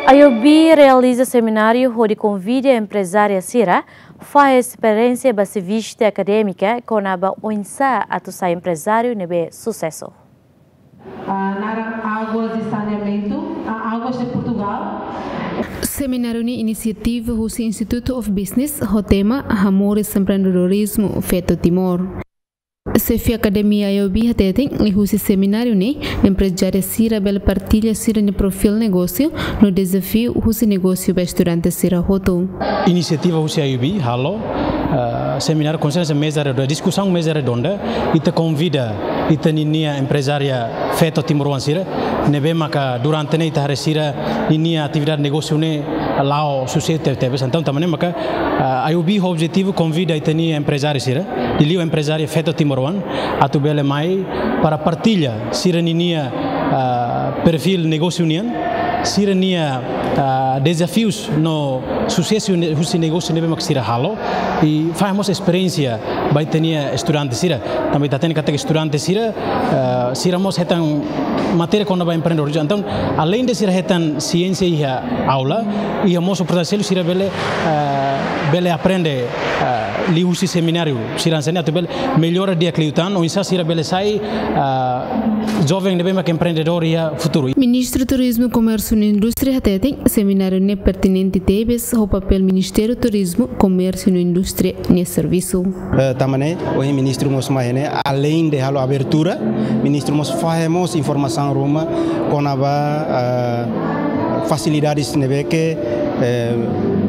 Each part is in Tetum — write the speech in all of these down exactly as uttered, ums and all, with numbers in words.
IOB realiza semináriu hodi konvida emprezáriu sira fahe esperiénsia ba servisu akadémiku kona-ba oinsá atu sai emprezáriu ne'ebé susesu. Ah, naran Águas de Saneamento, ah, Águas de Portugal. Semináriu ne'e inisiativa husi Institute of Business, ho tema Hamoris Empreendedorismo Feto Timor. Xefe Akademia IOB hateten, liuhusi semináriu ne'e, emprezáriu sira bele partilla sira-nia perfíl negósiu, no dezafiu husi negósiu ba estudante sira hotu. Inisiativa husi IOB halo, eh, semináriu konferénsia meza redonda, diskusaun meza redonda, ita konvida ita ninia emprezária feto timoroan sira, ne'ebé maka durante ne'e ita haree sira ninia atividade negósiu ne'e la'o susesu tebetebes. Entaun, tanba ne'e maka, eh, IOB ho objetivu konvida ita-nia emprezáriu sira, liuliu emprezária feto timoroan, atu bele mai para partilla sira ninia, ah, perfíl negósiu nian, sira-nia, ah, dezafius no susesu ne-, husi negósiu ne'ebé mak sira halo, i fahe mós esperiénsia ba ita-nia estudante sira. Tanba ita hatene katak estudante sira, ah, sira mós hetan matéria kona-ba empreendedorismo. Entaun, além de sira hetan siénsia iha aula, iha mós oportunidade seluk sira bele, ah, bele aprende, ah, liuhusi semináriu sira hanesan ne'e atu bele mellora di'ak liután, oinsá sira bele sai, ah, joven ne'ebé mak empreendedór iha futuru. Ministru Turizmu, Komérsiu no Indústria hateten, semináriu ne'e pertinente tebes ho papél Ministériu Turizmu, Komérsiu no Indústria nia servisu. Eh, tanba ne'e, ohin ministru mós mai ne'e, além de halo abertura, ministru mós fahe mós informasaun ruma kona-ba, eh, fasilidades ne'ebé ke, eh,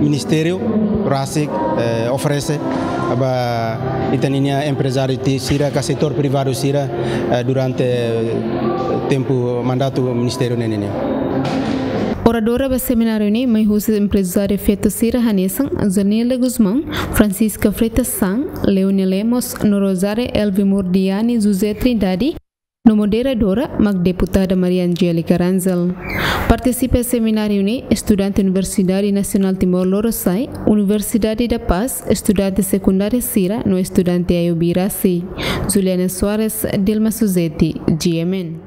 ministériu rasik, eh, oferese ba ita ninia emprezáriu ti-, sira ka setór privadu sira, eh, durante, eh, tempu mandatu ministériu ne'e nian. Oradora ba semináriu ne'e mai husi emprezáriu feto sira hanesan Zanila Gusmão, Francisca Freitas San, Leonia Lemos, no Rosária Elvimor Diani, José Trindade, no moderadora mak deputada Maria Angélica Rangel. Partisipa semináriu ne'e estudante Universidade Nasionál Timor Lorosa'e, Universidade da Paz, estudante sekundáriu sira no estudante IOB rasik. Juliana Soares, Dilma Suzeti, GMN.